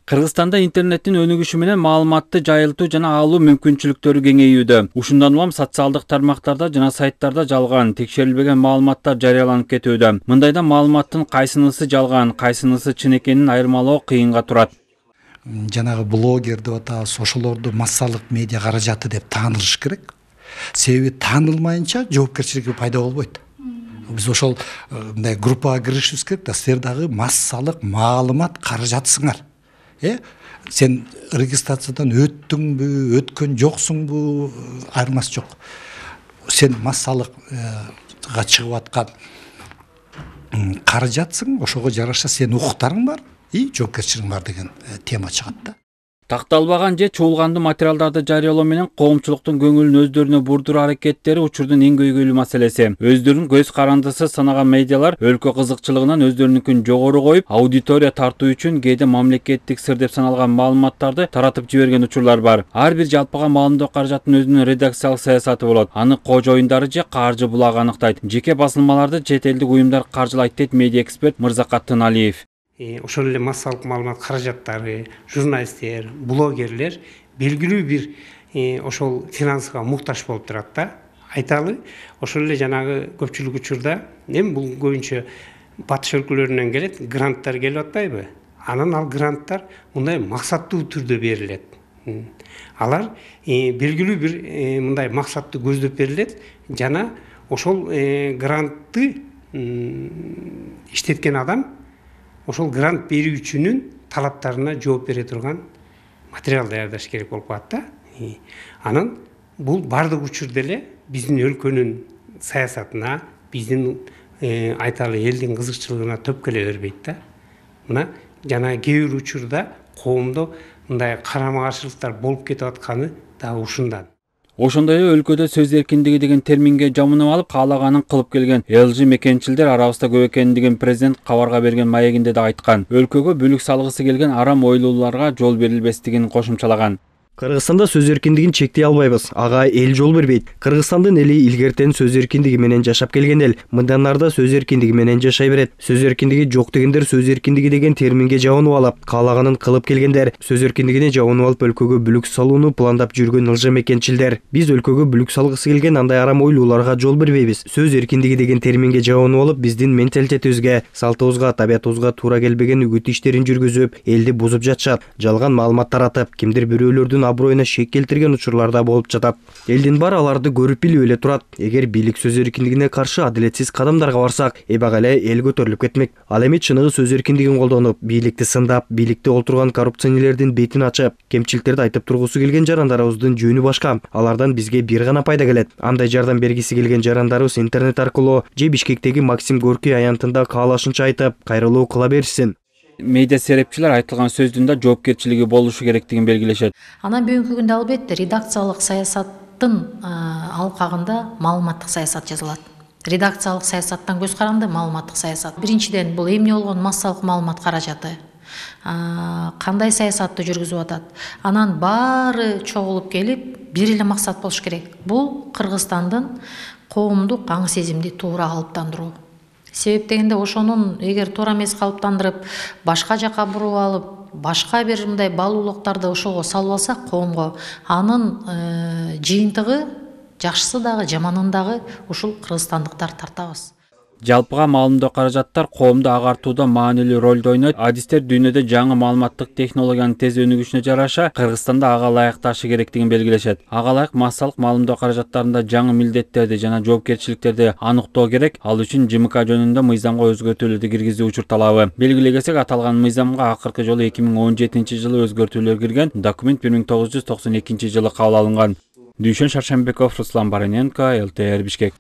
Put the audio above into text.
Кыргызстанда интернеттин өнүгүшү менен маалыматты жайылтуу жана алуу мүмкүнчүлүктөрү кеңейүүдө. Ушундан улам социалдык тармактарда жана сайттарда жалган, текшерилбеген маалыматтар жарыяланып кетүүдө. Мындайда маалыматтын кайсынысы жалган, кайсынысы чын экенин айырмалоо кыйынга турат. Жанагы блогер деп атабыз, ошолорду массалык медиа каражаты деп таанылыш керек. Себеби таанылмайынча жоопкерчилик пайда болбойт. Биз ошол мындай группага киришибиз керек да, силер дагы массалык маалымат каражатысыңар. Сен регистрациядан өттүңбү, өткөн жоксуңбу, айырмасы жок. Сен массалыкка чыгып аткан каражатсың, ошого жараша сенин укуктарың бар, жоопкерчилигиң бар деген тема чыгат да. Такталбаган же чуулгандуу материалдарды жарыялоо менен коомчулуктун көңүлүн өздөрүнө бурдуруу аракеттери учурдун эң көйгөйлүү маселеси. Өздөрүнүн көз карандысы санаган медиалар өлкө кызыкчылыгынан өздөрүнүкүн жогору коюп, аудитория тартуу үчүн кээде мамлекеттик сыр деп саналган маалыматтарды таратып жиберген учурлар бар. Ар бир жалпыга маалымдоо каражатынын өзүнүн редакциялык саясаты болот. Аны кожоюндары же каржы булагы аныктайт. Жеке басылмаларды чет элдик уюмдар каржылайт дейт медиа эксперт Мырзакат Тыналиев. Ошол эле массалык маалымат каражаттары, журналисттер, блогерлер белгилүү бир ошол финансыга муктаж болуп турат да. Айталы, ошол эле жанагы көпчүлүк учурда эми бул көбүнчө батыш өлкөлөрүнөн келет, гранттар келип атпайбы? Анан ал гранттар мындай максаттуу түрдө берилет. Алар белгилүү бир мындай максатты көздөп берилет жана ошол грантты иштеткен адам ошол грант берүүчүнүн талаптарына жооп бере турган материал даярдаш керек болуп калат да. Анан бул бардык учурда эле биздин өлкөнүн саясатына, биздин айталы элдин кызыкчылыгына төп келе бербейт да. Мына жана кээ бир учурда коомдо мындай карама каршылыктар болуп кетип атканы дагы ушундан. Ошондой эле өлкөдө сөз эркиндиги деген терминге жамынып алып, каалаганын кылып келген LG мекенчилдер арабызда көп экендигин президент кабарга берген маегинде да айткан. Өлкөгө бүлүк салгысы келген арам ойлууларга жол берилбестигин кошумчалаган. Кыргызстанда сөз эркиндигин чектей албайбыз. Ага эл жол бербейт. Кыргызстандын эли илгертен сөз эркиндиги менен жашап келген эл. Мындан нарда сөз эркиндиги менен жашай берет. Сөз эркиндиги жок дегендер сөз эркиндиги деген терминге жабынып алып, каалаганын кылып келгендер. Сөз эркиндигине жабынып алып өлкөгө бүлүк салууну пландап жүргөн ылжа мекенчилдер. Биз өлкөгө бүлүк салгысы келген андай арам ойлууларга жол бербейбиз. Сөз эркиндиги деген терминге жабынып алып, биздин менталитетибизге, салтыбызга, табиятыбызга туура келбеген үгүт иштерин жүргүзүп, элди бузуп жатышат. Жалган маалымат таратып, кимдир бирөөлөрдүн аброюна шек келтирген учурларда болуп жатат. Элдин баары аларды көрүп билип эле турат. Эгер бийлик сөз эркиндигине каршы адилетсиз кадамдарга барсак, эбак эле эл көтөрүлүп кетмек. Ал эми чыныгы сөз эркиндигин колдонуп, бийликти сындап, бийликте олтурган коррупционерлердин бетин ачып, кемчиликтерди айтып тургусу келген жарандарыбыздын жөнү башка. Алардан бизге бир гана пайда келет. Андай жардам бергиси келген жарандарыбыз интернет аркылуу же Бишкектеги Максим Горький аянтында каалашынча айтып, кайрылуу кыла берсин. Медиа серепчилер айтылган сөздүн да жоопкерчилиги болушу керектигин белгилешет. Анан бүгүнкү күндө албетте редакциялык саясаттын алкагында маалыматтык саясат жазылат. Редакциялык саясаттан көз каранды маалыматтык саясат. Биринчиден бул эмне болгон массалык маалымат каражаты. Кандай саясатты жүргүзүп атат. Анан баары чогулуп келип бир эле максат болуш керек. Бул Кыргызстандын коомдук аң сезимди туура калыптандыруу. Себеп дегенде ошонун эгер туура эмес калыптандырып, башка жака буруп алып, башка бир мындай балуулуктарды ошого салып алсак коомго, анын жыйынтыгы жакшысы дагы, жаманын дагы ушул кыргызстандыктар тартабыз. Жалпыга маалымдоо каражаттар коомду агартууда маанилүү ролду ойнойт. Адистер дүйнөдө жаңы маалыматтык технологиянын тез өнүгүшүнө жараша Кыргызстанда ага ылайыкташы керектигин белгилешет. Ага ылайык массалык маалымдоо каражаттарында жаңы милдеттерди жана жоопкерчиликтерди анықтоо керек. Ал үчүн ЖМК жөнүндө мыйзамга өзгөртүүлөрдү киргизүү учур талабы. Белгилегесек, аталган мыйзамга акыркы жолу 2017-жылы өзгөртүүлөр кирген. Документ 1992-жылы кабыл алынган. Дүйшөн Шаршембеков, Руслан Бараненко, ЛТР Бишкек.